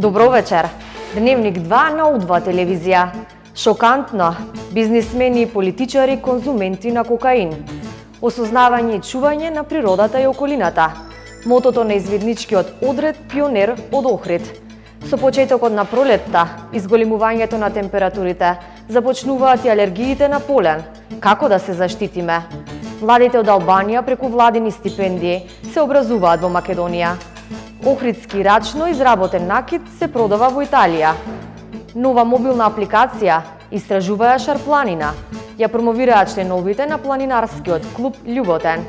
Добро вечер. Дневник 2 на У2 телевизија. Шокантно. Бизнисмени и политичари конзументи на кокаин. Осознавање и чување на природата и околината. Мотото на изведничкиот одред пионер од Охрид. Со почетокот на пролетта, изголемувањето на температурите, започнуваат и алергиите на полен. Како да се заштитиме? Младите од Албанија преку владини стипендии се образуваат во Македонија. Охридски рачно изработен накид се продава во Италија. Нова мобилна апликација истражуваја Шарпланина. Ја промовираат членовите на планинарскиот клуб Љуботен.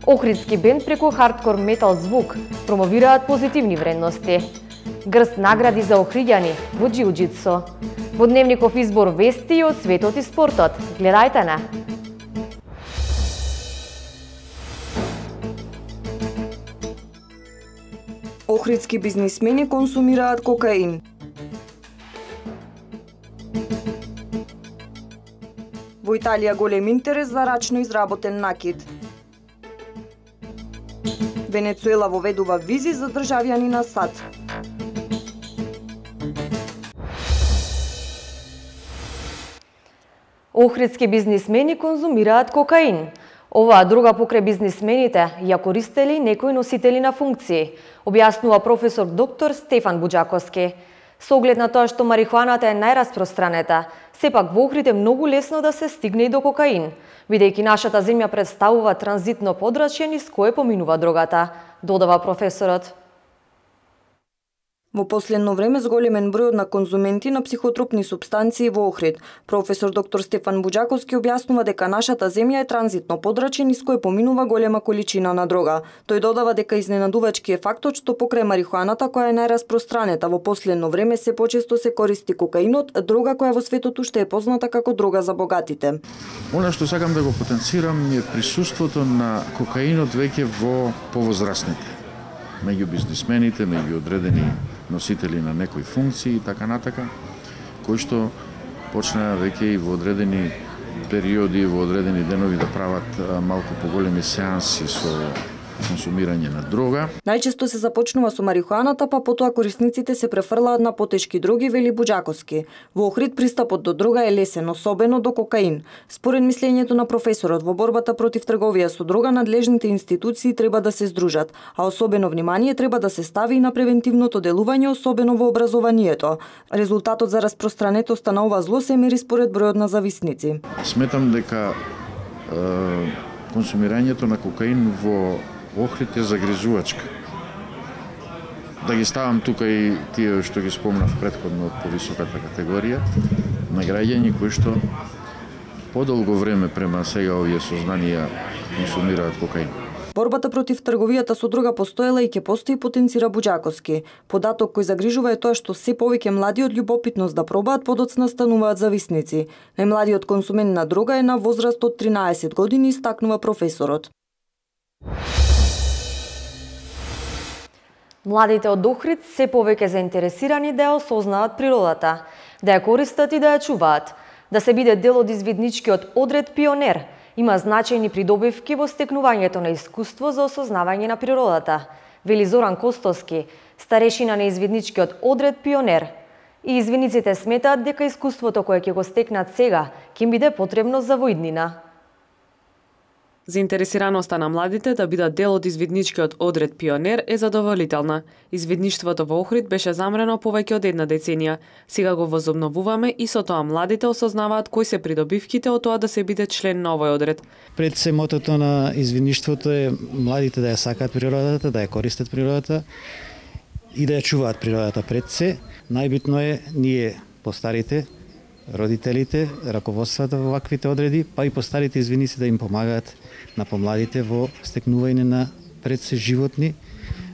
Охридски бенд преку хардкор метал звук промовираат позитивни вредности. Грст награди за охриѓани во џиу-џитсу. Во дневников избор вести од светот и спортот. Гледајте не! Охридски бизнисмени консумираат кокаин. Во Италија голем интерес за рачно изработен накид. Венецуела воведува визи за државјани на САД. Охридски бизнисмени конзумираат кокаин. Оваа друга покрај бизнисмените ја користели некои носители на функции, објаснува професор доктор Стефан Буџаковски. Со оглед на тоа што марихуаната е најраспространета, сепак во Охрид е многу лесно да се стигне и до кокаин, бидејќи нашата земја представува транзитно подрачје низ кое поминува дрогата, додава професорот. Во последно време зголемен број на конзументи на психотропни супстанции во Охрид. Професор доктор Стефан Буџаковски објаснува дека нашата земја е транзитно подрачје низ кое поминува голема количина на дрога. Тој додава дека изненадувачки е фактот што покрај марихуаната, која е најраспространета во последно време, се почесто се користи кокаинот, дрога која во светот уште е позната како дрога за богатите. Она што сакам да го потенцирам е присуството на кокаинот веќе во повозрастните, меѓу бизнисмените, меѓу одредени носители на некои функции и така натака, кои што почнаа веќе и во одредени периоди, во одредени денови да прават малку поголеми сеанси со консумирање на дрога. Најчесто се започнува со марихуаната, па потоа корисниците се префрлаат на потешки дроги, вели Буџаковски. Во Охрид пристапот до дрога е лесен, особено до кокаин. Според мислењето на професорот, во борбата против трговија со дрога надлежните институции треба да се здружат, а особено внимание треба да се стави и на превентивното делување, особено во образованието. Резултатот за распространетоста на ова зло се мери според бројот на зависници. Сметам дека консумирањето на кокаин во Охрид е загрижувачка. Да ги ставам тука и тие што ги спомнав претходно од повисоката категорија на граѓани кои што подолго време према сега овие сознанија консумираат кокаин. Борбата против трговијата со дрога постоела и ќе постои, потенцира Буџаковски. Податок кој загрижува е тоа што се повеќе млади од љубопитност да пробаат подоцна стануваат зависници. Најмладиот консумент на дрога е на возраст од 13 години, истакнува професорот. Младите од Охрид се повеќе заинтересирани да ја осознаат природата, да ја користат и да ја чуваат, да се биде дел од изведничкиот одред пионер. Има значајни придобивки во стекнувањето на искуство за осознавање на природата, вели Зоран Костовски, старешина на изведничкиот одред пионер. И изведниците сметаат дека искуството кое ќе го стекнат сега ќе им биде потребно за во иднина. Заинтересираноста на младите да бидат дел од изведничкиот одред пионер е задоволителна. Изведништвото во Охрид беше замрено повеќе од една деценија. Сега го возобновуваме и со тоа младите осознаваат кои се придобивките од тоа да се биде член на овој одред. Пред се мотото на изведништвото е младите да ја сакаат природата, да ја користат природата и да ја чуваат природата пред се. Најбитно е ние постарите, родителите, раководствата во ваквите одреди, па и постарите изведници да им помагаат на помладите во стекнување на пред се животни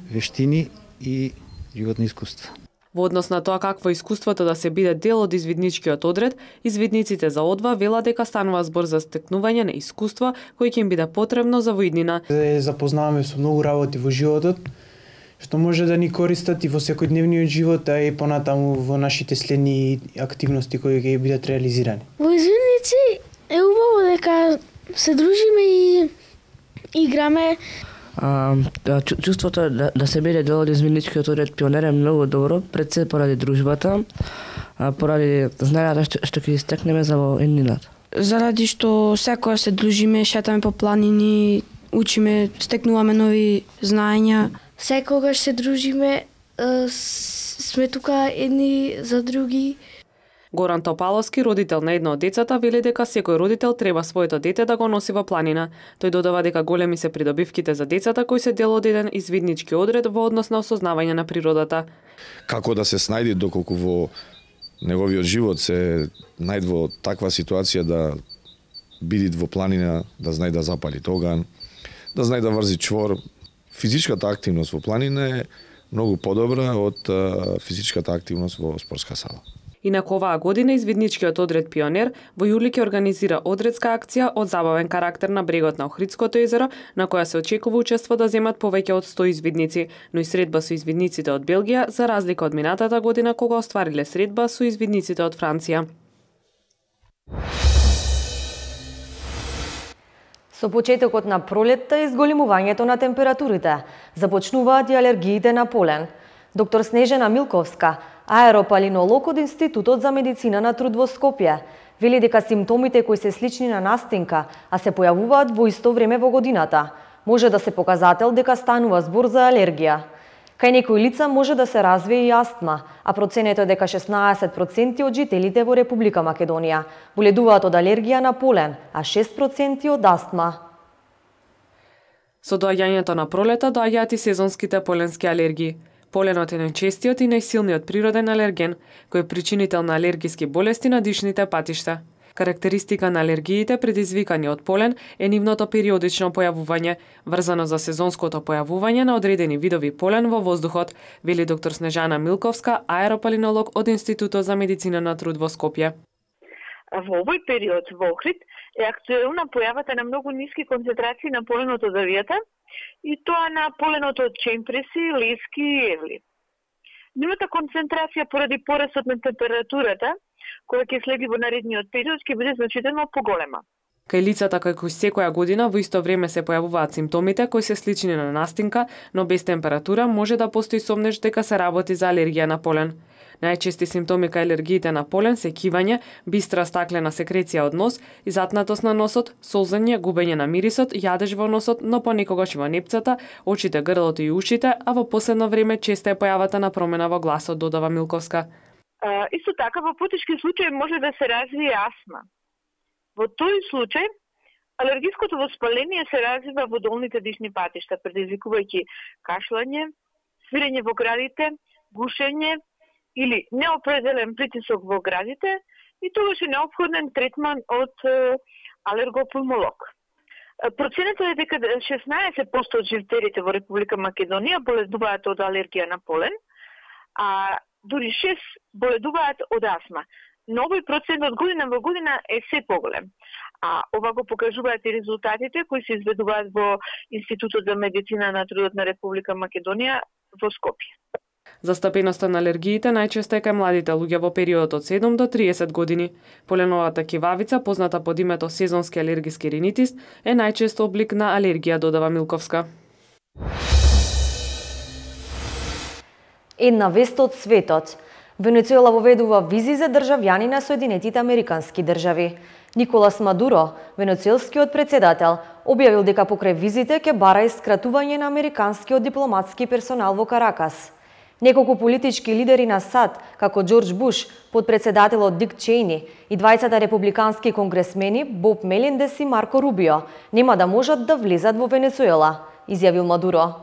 вештини и животни искуства. Во однос на тоа какво искуството да се биде дел од изведничкиот одред, изведниците за одва велат дека станува збор за стекнување на искуство кој ќе им биде потребно за во иднина. Запознаваме со многу работи во животот, што може да ни користат и во секојдневниот живот, а и понатаму во нашите следни активности кои ќе бидат реализирани. Во изведници е убаво дека се дружиме и играме Чувството да се биде дел од извидничкиот одред Пионер е многу добро, пред се поради дружбата, поради знаењата што ќе истекнеме за во еднината. Заради што секоја се дружиме, шетаме по планини, учиме, стекнуваме нови знаења. Секогаш се дружиме, сме тука едни за други. Горан Топаловски, родител на едно од децата, вели дека секој родител треба своето дете да го носи во планина. Тој додава дека големи се придобивките за децата кои се дел од еден извиднички одред во однос на осознавање на природата. Како да се снајди доколку во неговиот живот се најде во таква ситуација да биде во планина, да знае да запали тоган, да знае да врзи чвор. Физичката активност во планина е многу подобра од физичката активност во спортска сала. Инаку оваа година извидничкиот одред Пионер во јули ќе организира одредска акција од забавен карактер на брегот на Охридското езеро, на која се очекува учество да земат повеќе од 100 извидници, но и средба со извидниците од Белгија, за разлика од минатата година кога оствариле средба со извидниците од Франција. Со почетокот на пролетта и зголемувањето на температурите, започнуваат и алергиите на полен. Доктор Снежана Милковска, аеропалинолог од Институтот за медицина на труд во Скопје, вели дека симптомите кои се слични на настинка, а се појавуваат во исто време во годината, може да се показател дека станува збор за алергија. Кај некои лица може да се развие и астма, а проценето е дека 16% од жителите во Република Македонија боледуваат од алергија на полен, а 6% од астма. Со доаѓањето на пролета доаѓаат и сезонските поленски алергии. Поленот е најчестиот и најсилниот природен алерген, кој е причинител на алергиски болести на дишните патишта. Карактеристика на алергиите предизвикани од полен е нивното периодично појавување, врзано за сезонското појавување на одредени видови полен во воздухот, вели доктор Снежана Милковска, аеропалинолог од Институтот за медицина на труд во Скопје. Во овој период во Охрид е актуелна појавата на многу ниски концентрации на поленот од авијата и тоа на поленот од чемпреси, лески и евли. Нивната концентрација поради порасот на температурата, која ќе следи во наредниот период, ќе биде значително поголема. Кај лицата кои секоја година во исто време се појавуваат симптомите кои се слични на настинка, но без температура, може да постои сомнеж дека се работи за алергија на полен. Најчести симптоми кај алергиите на полен се кивање, бистра стаклена секреција од нос, изатнатост на носот, солзење, губење на мирисот, јадеж во носот, но понекогаш и во непцата, очите, грлото и ушите, а во последно време честа е појавата на промена во гласот, додава Милковска. Исто така, во потешки случаи може да се развие астма. Во тој случај, алергиското воспаление се развива во долните дишни патишта, предизвикувајќи кашлање, свирење во градите, гушење или неопределен притисок во градите и тогаш е неопходен третман од алергопулмолог. Проценето е дека 16% од жителите во Република Македонија боледуваат од алергија на полен, а дури 6 боледуваат од астма. Но овој процент од година во година е се поголем. А ова го покажуваат и резултатите кои се изведуваат во Институтот за медицина на трудот на Република Македонија во Скопје. Застапеноста на алергиите најчесто е кај младите луѓе во периодот од 7 до 30 години. Поленовата кивавица, позната под името сезонски алергиски ринитис, е најчесто облик на алергија, додава Милковска. Една вест од светот. Венецуела воведува визи за државјани на Соединетите Американски држави. Николас Мадуро, венецуелскиот председател, објавил дека покрај визите ќе бара и скратување на американскиот дипломатски персонал во Каракас. Неколку политички лидери на САД, како Џорџ Буш, подпредседателот Дик Чейни и двајцата републикански конгресмени Боб Мелендес и Марко Рубио, нема да можат да влезат во Венецуела, изјавил Мадуро.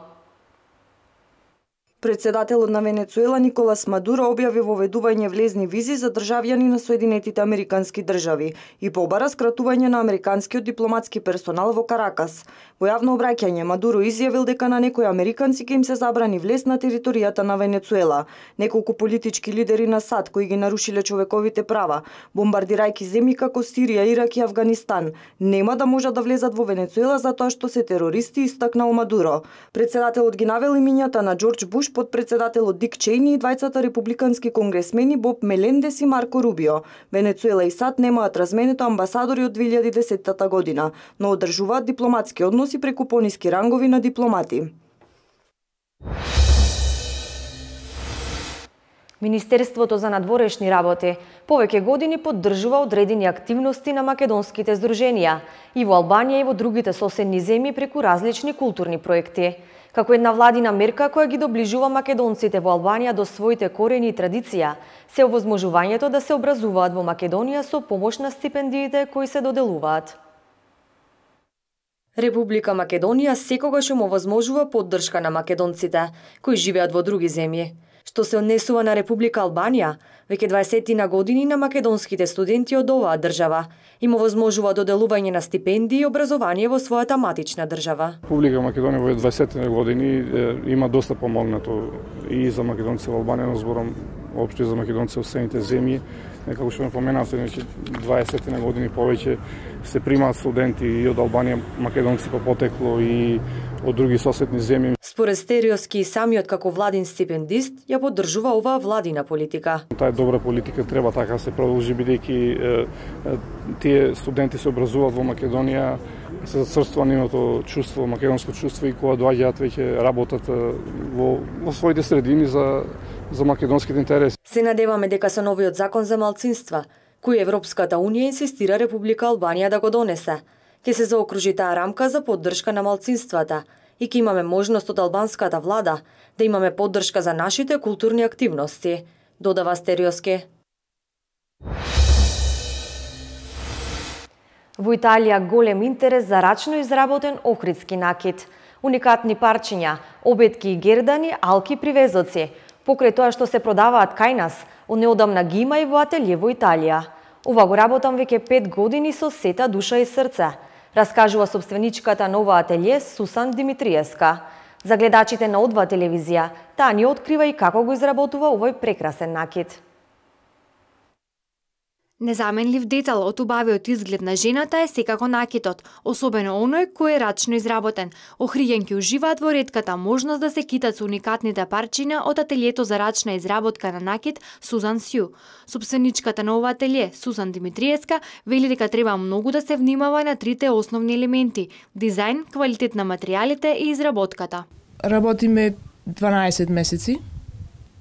Председателот на Венецуела Николас Мадуро објави воведување влезни визи за државјани на Соединетите Американски држави и побара скратување на американскиот дипломатски персонал во Каракас. Во јавно обраќање Мадуро изјавил дека на некои американци ќе им се забрани влез на територијата на Венецуела. Неколку политички лидери на САД кои ги нарушиле човековите права, бомбардирајќи земји како Сирија, Ирак и Авганистан, нема да можат да влезат во Венецуела затоа што се терористи, истакнал Мадуро. Председателот ги навел имињата на Џорџ Буш, Буш, подпредседателот Дик Чејни и двајцата републикански конгресмени Боб Мелендес и Марко Рубио. Венецуела и САД немаат разменето амбасадори од 2010 година, но одржуваат дипломатски односи преку пониски рангови на дипломати. Министерството за надворешни работи повеќе години поддржува одредени активности на македонските здруженија и во Албанија и во другите соседни земји преку различни културни проекти. Како една владина мерка која ги доближува македонците во Албанија до своите корени и традиција, се овозможувањето да се образуваат во Македонија со помош на стипендиите кои се доделуваат. Република Македонија секогаш им овозможува поддршка на македонците кои живеат во други земји. Што се однесува на Република Албанија, веќе 20 на години на македонските студенти од оваа држава им овозможува доделување на стипендии и образование во својата матична држава. Република Македонија во 20 години има доста помогнато и за македонци во Албанија, но зборам општо за македонци во соседните земји. Како што ме поменавте, 20 на години повеќе се примаат студенти и од Албанија, македонци по потекло и од други соседни земји. Според Стериоски и самиот како владин стипендист ја поддржува оваа владина политика. Таа е добра политика, треба така се продолжи, бидејќи тие студенти се образуваат во Македонија, се зацрствува нивното чувство, македонско чувство, и кога доаѓаат веќе работат во своите средини за македонските интереси. Се надеваме дека со новиот закон за малцинства, кој Европската Унија инсистира Република Албанија да го донесе, ќе се заокружи таа рамка за поддршка на малцинствата и ќе имаме можност од албанската влада да имаме поддршка за нашите културни активности, додава Стериоски. Во Италија голем интерес за рачно изработен охридски накит, уникатни парчиња, обетки и гердани, алки привезоци, покрај тоа што се продаваат кај нас, од неодамна ги има и во ателје во Италија. Ова го работам веќе 5 години со сета душа и срце, раскажува собственичката на ова ателје Сусан Димитриевска. За гледачите на О2 телевизија, таа ни открива и како го изработува овој прекрасен накит. Незаменлив детал од убавиот изглед на жената е секако накитот, особено оној кој е рачно изработен. Охриѓанки уживаат во ретката можност да се китат со уникатните парчиња од ателјето за рачна изработка на накит Сузан Сју. Собственичката на ова ателје, Сусан Димитриевска, вели дека треба многу да се внимава на трите основни елементи: дизајн, квалитет на материјалите и изработката. Работиме 12 месеци,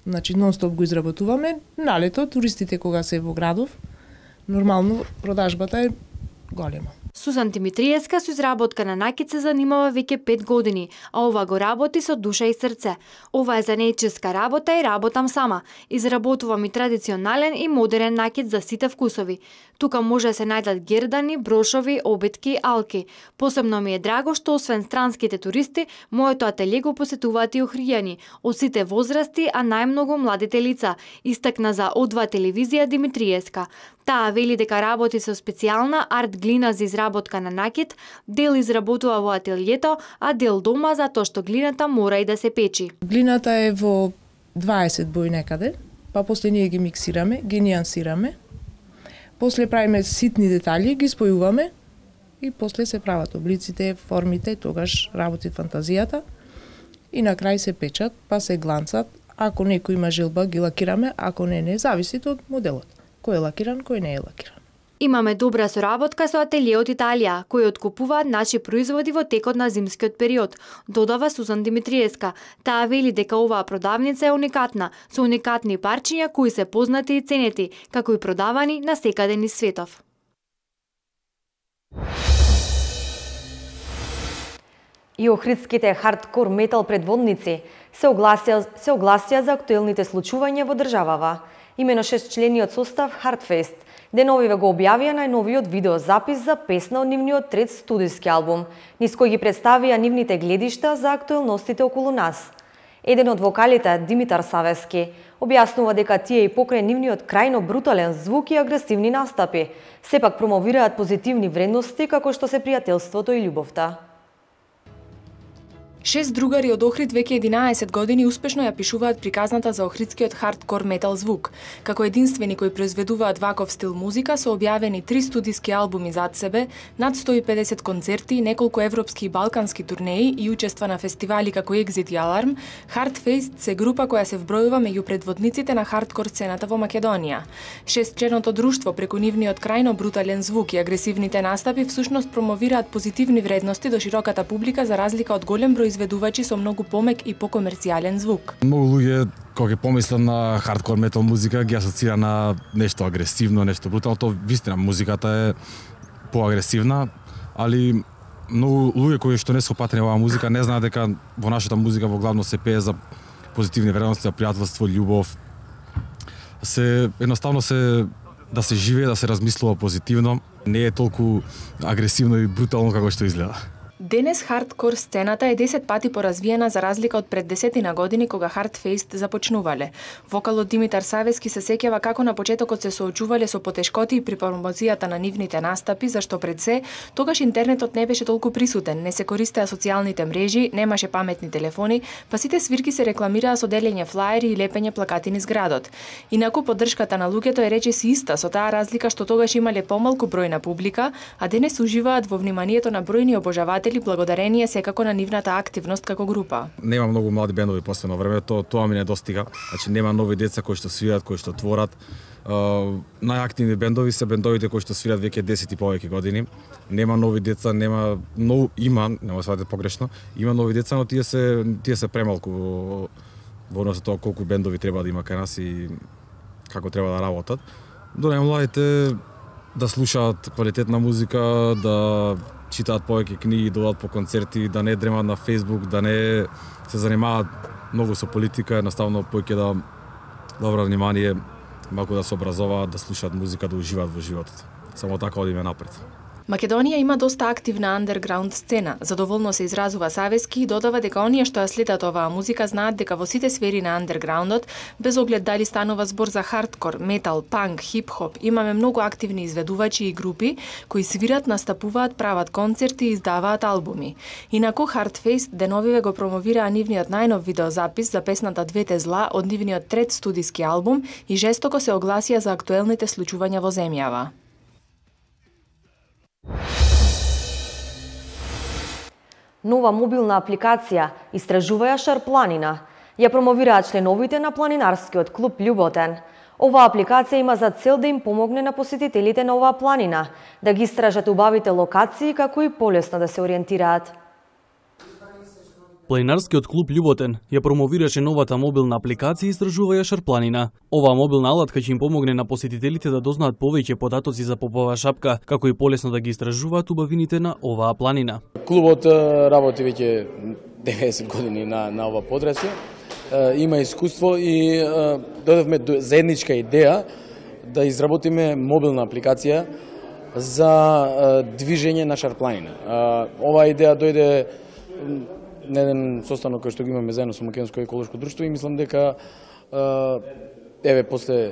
значи нон-стоп го изработуваме. Налето, туристите кога се во градов, нормално продажбата е голема. Сузан Димитриевска со изработка на накит се занимава веќе 5 години, а ова го работи со душа и срце. Ова е занаетческа работа и работам сама. Изработувам и традиционален и модерен накит за сите вкусови. Тука може да се најдат гердани, брошови, обетки, алки. Посебно ми е драго што освен странските туристи, моето ателје го посетуваат и охријани, од сите возрасти, а најмногу младите лица, истакна за О2 телевизија Димитриевска. Таа вели дека работи со специјална арт глина за изработка на накит, дел изработува во ателјето, а дел дома затоа што глината мора и да се печи. Глината е во 20 бои некаде, па после ние ги миксираме, ги нијансираме, после правиме ситни детали, ги спојуваме и после се прават облиците, формите, тогаш работи фантазијата и на крај се печат, па се гланцат. Ако некој има желба, ги лакираме, ако не, зависи од моделот. Кој е лакиран, кој не е лакиран. Имаме добра соработка со ателје од Италија, кои откупуваат наши производи во текот на зимскиот период, додава Сузан Димитриевска. Таа вели дека оваа продавница е уникатна, со уникатни парчиња кои се познати и ценети, како и продавани на секаде низ светов. И охридските хардкор метал предводници се огласија за актуелните случувања во државава. Имено 6-члениот состав Hardfest деновиве го објавија најновиот видеозапис за песна од нивниот трет студиски албум, низ кој ги представија нивните гледишта за актуелностите околу нас. Еден од вокалите, Димитар Савески, објаснува дека тие и покрај нивниот крајно брутален звук и агресивни настапи, сепак промовираат позитивни вредности како што се пријателството и љубовта. 6 другари од Охрид веќе 11 години успешно ја пишуваат приказната за охридскиот хардкор метал звук. Како единствени кои произведуваат ваков стил музика, со објавени 3 студиски албуми зад себе, над 150 концерти, неколку европски и балкански турнеи и учества на фестивали како Exit и Alarm, Hardfaced се група која се вбројува меѓу предводниците на хардкор сцената во Македонија. Шестчленото друштво преку нивниот крајно брутален звук и агресивните настапи всушност промовираат позитивни вредности до широката публика за разлика од голем број изведувачи со многу помек и покомерцијален звук. Многу луѓе кога ќе помислат на хардкор метал музика ги асоцира на нешто агресивно, нешто брутално. Тоа вистина музиката е поагресивна, али многу луѓе кои што не се опатени оваа музика не знаат дека во нашата музика во главно се пее за позитивни вредности, за пријателство, љубов. Едноставно да се живее, да се размислува позитивно, не е толку агресивно и брутално како што изгледа. Денес хардкор сцената е 10 пати поразвиена за разлика од пред 10 години кога Hardfaced започнувале. Вокалот Димитар Савески се сеќава како на почетокот се соочувале со потешкоти при промоцијата на нивните настапи, зашто пред се тогаш интернетот не беше толку присутен, не се користеа социјалните мрежи, немаше паметни телефони, па сите свирки се рекламираа со делење флаери и лепење плакати низ градот. Инаку поддршката на луѓето е речиси иста, со таа разлика што тогаш имале помалку број на публика, а денес уживаат во вниманието на бројни обожаватели благодарение секако на нивната активност како група. Нема многу млади бендови последно време, тоа ми не достига. Значи нема нови деца кои што свират, кои што творат. Најактивни бендови се бендовите кои што свират веќе 10 и повеќе години. Нема нови деца, нема сватите погрешно, има нови деца, но тие се премалку во однос на тоа колку бендови треба да има кај нас и како треба да работат. До најмладите да слушаат квалитетна музика, да читаат повеќе книги, да одат по концерти, да не дремат на Facebook, да не се занимаваат многу со политика, едноставно повеќе да обрат внимание, малку да се образуваат, да слушаат музика, да уживаат во животот. Само така одиме напред. Македонија има доста активна андерграунд сцена. Задоволно се изразува Савески и додава дека оние што ја следат оваа музика знаат дека во сите сфери на андерграундот, без оглед дали станува збор за хардкор, метал, панк, хип-хоп, имаме многу активни изведувачи и групи кои свират, настапуваат, прават концерти и издаваат албуми. Инаку Hardfaced деновиве го промовираа нивниот најнов видеозапис за песната Двете зла од нивниот трет студиски албум и жестоко се огласија за актуелните случувања во земјава. Нова мобилна апликација Истражуваја Шарпланина ја промовираат членовите на планинарскиот клуб Љуботен. Оваа апликација има за цел да им помогне на посетителите на оваа планина да ги истражат убавите локации како и полесно да се ориентираат. Планинарскиот клуб Љуботен ја промовираше новата мобилна апликација Истражуваја Шарпланина. Оваа мобилна алатка ќе им помогне на посетителите да дознаат повеќе податоци за Попова шапка, како и полесно да ги истражуваат убавините на оваа планина. Клубот работи веќе 90 години на ова подрачје. Има искуство и додевме заедничка идеја да изработиме мобилна апликација за движење на Шарпланина. Оваа идеја дојде на еден состанок кој што го имаме заедно со Македонско еколошко друштво и мислам дека после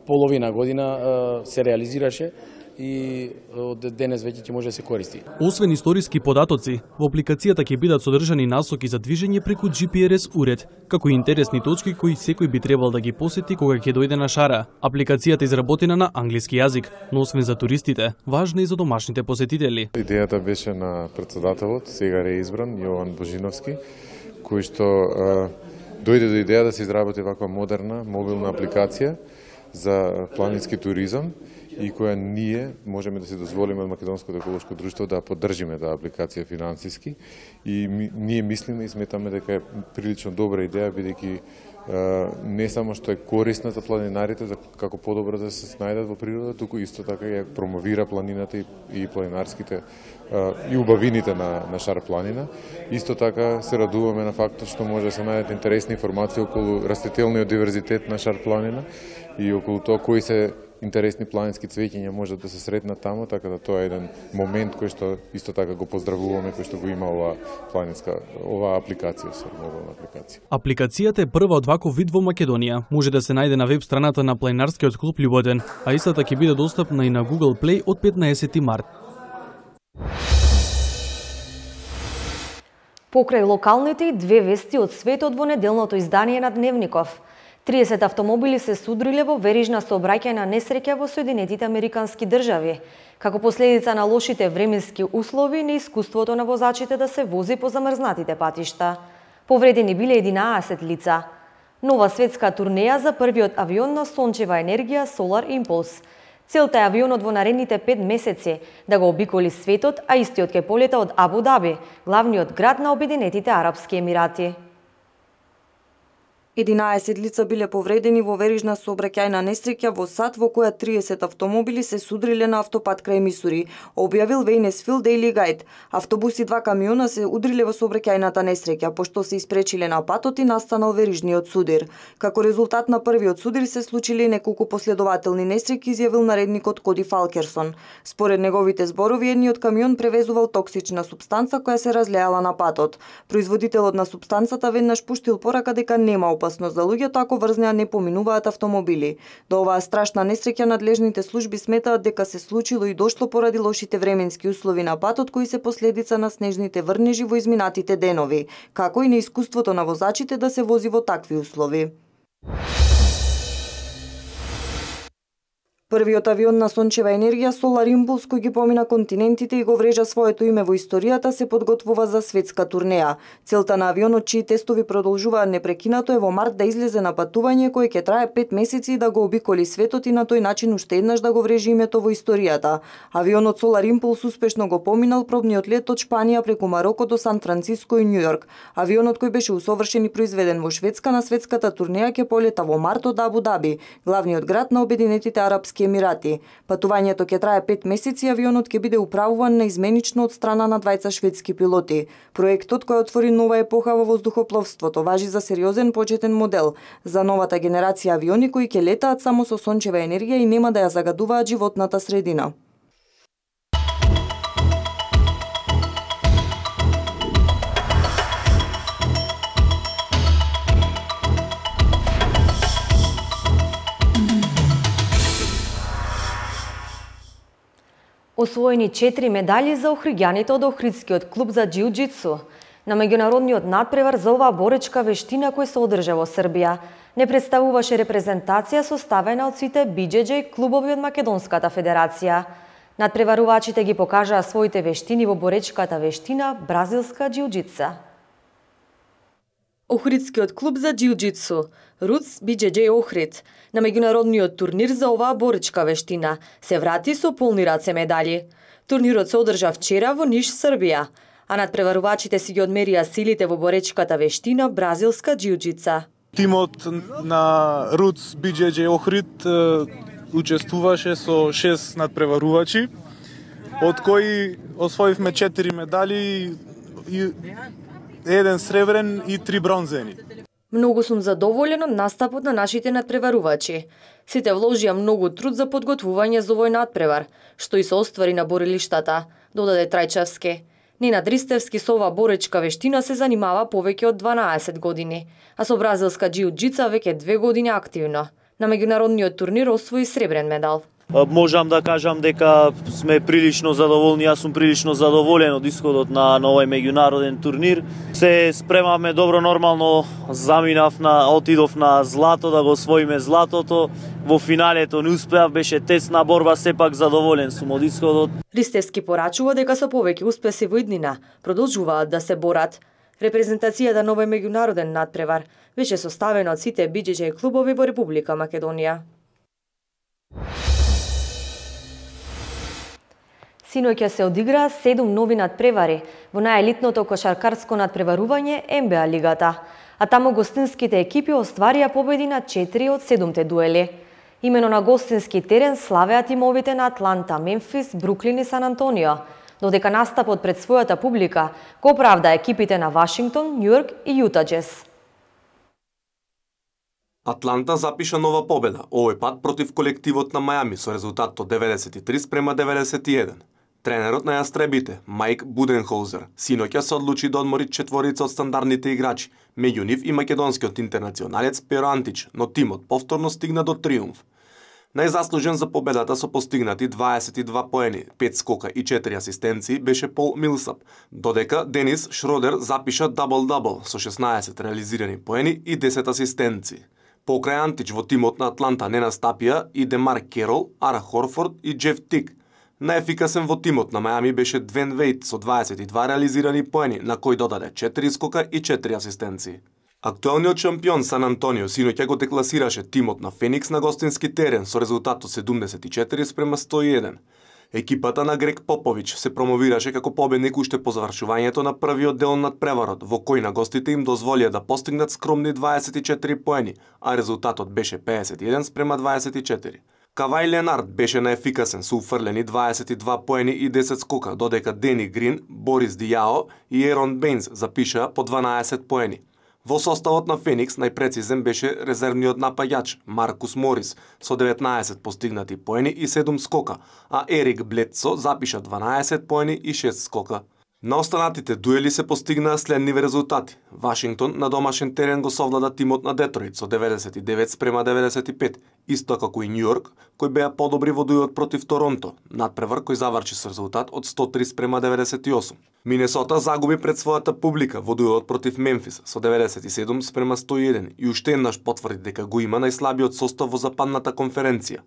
половина година се реализираше и од денес веќе ќе може да се користи. Освен историски податоци, во апликацијата ќе бидат содржани насоки за движење преку GPS уред, како и интересни точки кои секој би требал да ги посети кога ќе дојде на шара. Апликацијата е изработена на англиски јазик, но освен за туристите, важна и за домашните посетители. Идејата беше на претседателот, сега реизбран, Јован Божиновски, кој што дојде до идеја да се изработи ваква модерна мобилна апликација за планински туризам и која ние можеме да се дозволиме од Македонското еколошко друштво да поддржиме таа апликација финансиски и ние мислиме и сметаме дека е прилично добра идеја бидејќи не само што е корисна за планинарите за како подобро да се снајдат во природа, туку исто така ја промовира планината и планинарските и убавините на Шарпланина. Исто така се радуваме на фактот што може да се најдат интересни информации околу растителниот диверзитет на Шарпланина и околу тоа кои се интересни планински цвеќиња можат да се сретнат таму, така да тоа е еден момент кој што исто така го поздравуваме, кој што го има оваа апликација, мобилна апликација. Апликацијата е прва од ваков вид во Македонија. Може да се најде на веб страната на Планинарскиот клуб Љуботен, а истата ќе биде достапна и на Google Play од 15 март. Покрај локалните и две вести од светот во неделното издание на Дневников. 30 автомобили се судриле во верижна сообраќајна несреќа во Соединетите Американски држави, како последица на лошите временски услови и неискуството на возачите да се вози по замрзнатите патишта. Повредени биле 11 лица. Нова светска турнеја за првиот авион на сончева енергија Solar Impulse. Целта е авионот во наредните 5 месеци да го обиколи светот, а истиот ќе полета од Абу Даби, главниот град на Обединетите Арапски Емирати. 11 лица биле повредени во верижна сообраќајна несреќа во САД во која 30 автомобили се судриле на автопат крај Мисури, објавил Вейнесфилд Daily Guide. Автобуси и 2 камиона се удриле во сообраќајната несреќа, пошто се испречиле на патот и настанал верижниот судир. Како резултат на првиот судир се случиле неколку последователни несреќи, изјавил наредникот Коди Фалкерсон. Според неговите зборови, едниот камион превезувал токсична супстанца која се разлеала на патот. Производителот на супстанцата веднаш пуштил порака дека нема опасност за луѓето ако врз неа не поминуваат автомобили. До оваа страшна несреќа надлежните служби сметаат дека се случило и дошло поради лошите временски услови на патот кои се последица на снежните врнежи во изминатите денови, како и неискуството на возачите да се вози во такви услови. Првиот авион на сончева енергија Solar Impulse, кој ги помина континентите и го врежа своето име во историјата, се подготвува за светска турнеја. Целта на авионот, чии тестови продолжуваат непрекинато, е во март да излезе на патување кој ќе трае 5 месеци и да го обиколи светот и на тој начин уште еднаш да го врежи името во историјата. Авионот Solar Impulse успешно го поминал пробниот лет од Шпанија преку Мароко до Сан Франциско и Њујорк. Авионот кој беше усовршен и произведен во Шведска на светската турнеја ќе полета во март од Абу Даби, главниот град на Обединетите Арапски Емирати. Патувањето ќе трае 5 месеци и авионот ќе биде управуван наизменично од страна на двајца шведски пилоти. Проектот кој отвори нова епоха во воздухопловството важи за сериозен почетен модел за новата генерација авиони кои ќе летаат само со сончева енергија и нема да ја загадуваат животната средина. Освоени 4 медали за охриѓаните од Охридскиот клуб за џиу-џитсу. На меѓународниот надпревар за оваа боречка вештина кој се одржа во Србија не представуваше репрезентација составена од сите BJJ клубови од Македонската федерација. Надпреварувачите ги покажаа своите вештини во боречката вештина бразилска џиу-џитса. Охридскиот клуб за џиу-џитсу, Roots BJJ Охрид, на меѓународниот турнир за оваа боречка вештина се врати со полни раце медали. Турнирот се одржа вчера во Ниш, Србија, а надпреварувачите си ги одмерија силите во боречката вештина бразилска џиу-џитса. Тимот на Roots BJJ Охрид учествуваше со 6 надпреварувачи, од кои освоивме 4 медали, 1 сребрен и 3 бронзени. Многу сум задоволен од настапот на нашите надпреварувачи. Сите вложија многу труд за подготвување за овој надпревар, што и се оствари на борилиштата, додаде Трајчевски. Ненад Ристевски со оваа боречка вештина се занимава повеќе од 12 години, а со бразилска џиу-џитса веќе 2 години активно. На меѓународниот турнир освои сребрен медал. Можам да кажам дека сме прилично задоволни, јас сум прилично задоволен од исходот на овој меѓународен турнир. Се спремаме добро, нормално отидов на злато, да го освоиме златото. Во финалето не успеав, беше тесна борба, сепак задоволен сум од исходот. Ристевски порачува дека со повеќе успеси во иднина продолжуваат да се борат. Репрезентацијата на овој меѓународен надпревар беше составена од сите BJJ клубови во Република Македонија. Синоќа се одиграа 7 нови надпревари во најелитното кошаркарско надпреварување НБА лигата, а таму гостинските екипи остварија победи на 4 од 7 дуели. Имено на гостински терен славеа тимовите на Атланта, Мемфис, Бруклин и Сан Антонио, додека настапот пред својата публика го оправда екипите на Вашингтон, Њујорк и Јута Џез. Атланта запиша нова победа, овој пат против колективот на Мајами со резултат од 93-91. Тренерот на јастребите, Мајк Буденхолзер, синоќа се одлучи да одмори четворица од стандардните играчи, меѓу нив и македонскиот интернационалец Перо Антич, но тимот повторно стигна до триумф. Најзаслужен за победата со постигнати 22 поени, 5 скока и 4 асистенции беше Пол Милсап, додека Денис Шродер запиша дабл-дабл со 16 реализирани поени и 10 асистенции. Покрај Антич во тимот на Атланта не настапија и Демар Керол, Ара Хорфорд и Джеф Тик. Најефикасен во тимот на Мајами беше Двен Вейт со 22 реализирани поени, на кој додаде 4 скока и 4 асистенции. Актуелниот шампион Сан Антонио синоќа го декласираше тимот на Феникс на гостински терен со резултатот 74-101. Екипата на Грег Попович се промовираше како победник уште по завршувањето на првиот дел над преварот, во кој на гостите им дозволија да постигнат скромни 24 поени, а резултатот беше 51-24. Кавај Ленард беше најефикасен со уфрлени 22 поени и 10 скока, додека Дени Грин, Борис Дијао и Ерон Бейнс запишаа по 12 поени. Во составот на Феникс најпрецизен беше резервниот напаѓач Маркус Морис со 19 постигнати поени и 7 скока, а Ерик Бледсо запиша 12 поени и 6 скока. На останатите дуели се постигнаа следниви резултати. Вашингтон на домашен терен го совлада тимот на Детройт со 99-95, исто како и Њујорк, кои беа подобри во дуелот против Торонто, надпревар кој заврши со резултат од 103-98. Минесота загуби пред својата публика во дуелот против Мемфис со 97-101 и уште еднаш потврди дека го има најслабиот состав во западната конференција.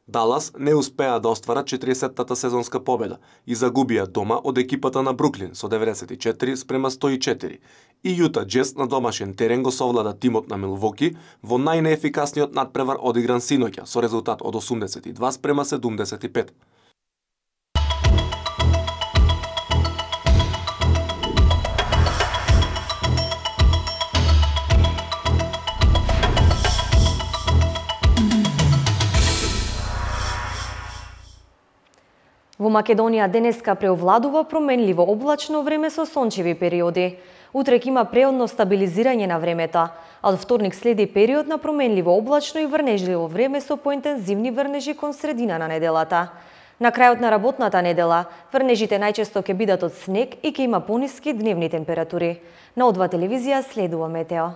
Далас не успеа да остварат 40-тата сезонска победа и загубија дома од екипата на Бруклин со 94-104. И Јута Джез на домашен терен го совлада тимот на Милвоки во најнеефикасниот надпревар одигран синоќа со резултат од 82-75. Во Македонија денеска преовладува променливо облачно време со сончеви периоди. Утрек има преодно стабилизирање на времето, а од вторник следи период на променливо облачно и врнежливо време со поинтензивни врнежи кон средина на неделата. На крајот на работната недела, врнежите најчесто ќе бидат од снег и ќе има пониски дневни температури. На О2 телевизија следува метео.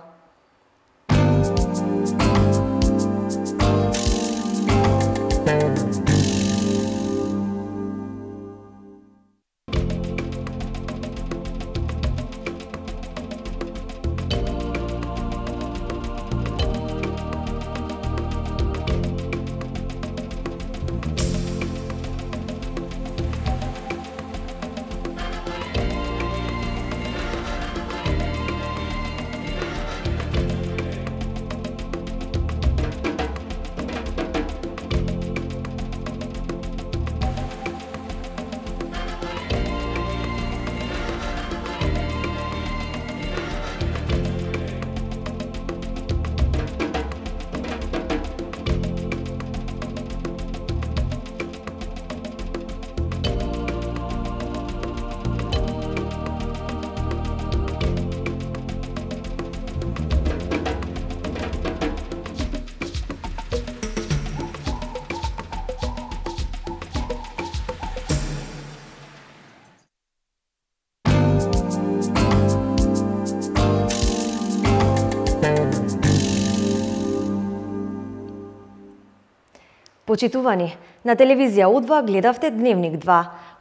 Почитувани, на телевизија О2 гледавте Дневник 2.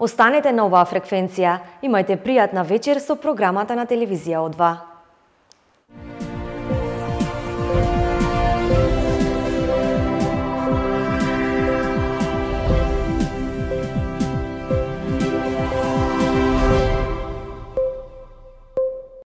Останете на оваа фреквенција. Имајте пријатна вечер со програмата на телевизија О2.